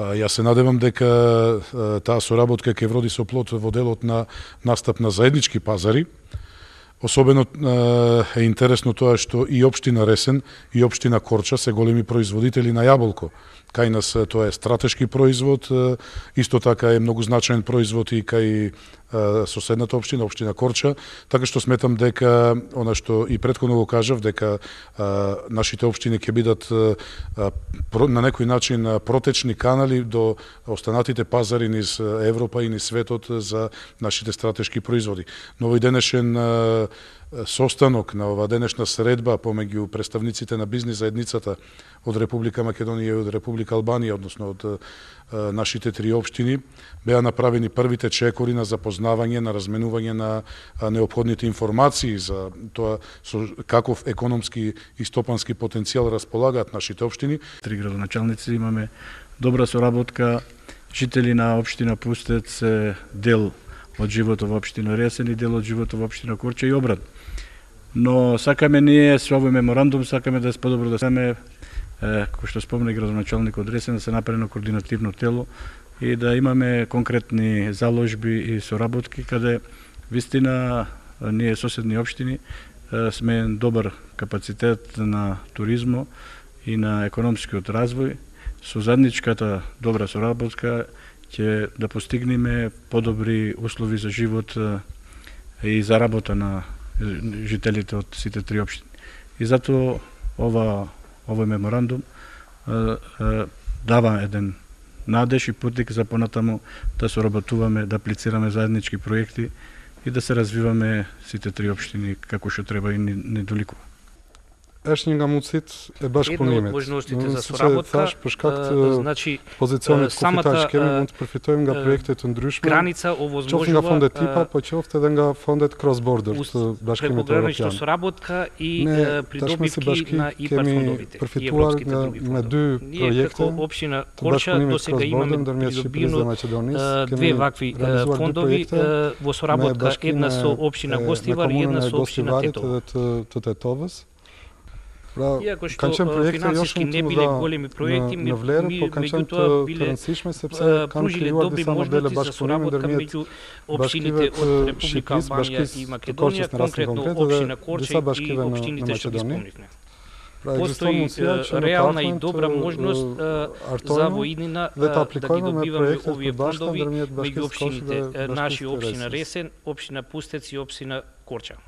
Јас се надевам дека таа соработка ќе вроди со плод во делот на настап на заеднички пазари. Особено е интересно тоа што и општина Ресен и општина Корча се големи производители на јаболко. Кај нас тоа е стратешки производ, исто така е многу значаен производ и кај соседната општина, општина Корча, така што сметам дека она што и претходно го кажав, дека нашите општини ќе бидат на некој начин протечни канали до останатите пазари низ Европа и низ светот за нашите стратешки производи. Но овој денешен состанок на ова денешна средба помеѓу представниците на бизнис заедницата од Република Македонија и од Република Албанија, односно од нашите три општини, беа направени првите чекори на запознавање, на разменување на неопходните информации за тоа со каков економски и стопански потенцијал располагаат нашите општини. Три градоначалници имаме добра соработка, жители на општина Пустец се дел од животот во општина Ресен и дел од животот во општина Корча и обратно. Но сакаме ние со овој меморандум сакаме да се подобро да сме кој што спомна градоначалникот од Ресен, да се направи координативно тело и да имаме конкретни заложби и соработки каде вистина ние соседни општини сме добар капацитет на туризмо и на економскиот развој. Со заедничката добра соработка ќе да постигнеме подобри услови за живот и за работа на жителите од сите три општини. И затоа овој меморандум дава еден надеж и путик за понатаму да соработуваме, да аплицираме заеднички проекти и да се развиваме сите три општини како што треба и недоликува. Ешнинга муцит е баш по немет. Една од можностите за соработка, значи самата проектот граница овозможува фондет типа, почелфте денга фондет кросбордер, што баш прекогранична соработка и придобивки на ИПАР фондовите и европските други фондови. Ние како општина Корча досега имаме придобиено две вакви фондови во соработка, една со општина Гостивар и една со општина Тетовас. Иако што финансиски не биле големи проекти, меѓутоа биле пружиле добри можности за соработка меѓу општините од Република Албанија и Македонија, конкретно општина Корча и општините што ги спомнивме. Постои реална и добра можност за во иднина да ги добиваме овие фондови меѓу општините, наши општина Ресен, општина Пустец и општина Корча.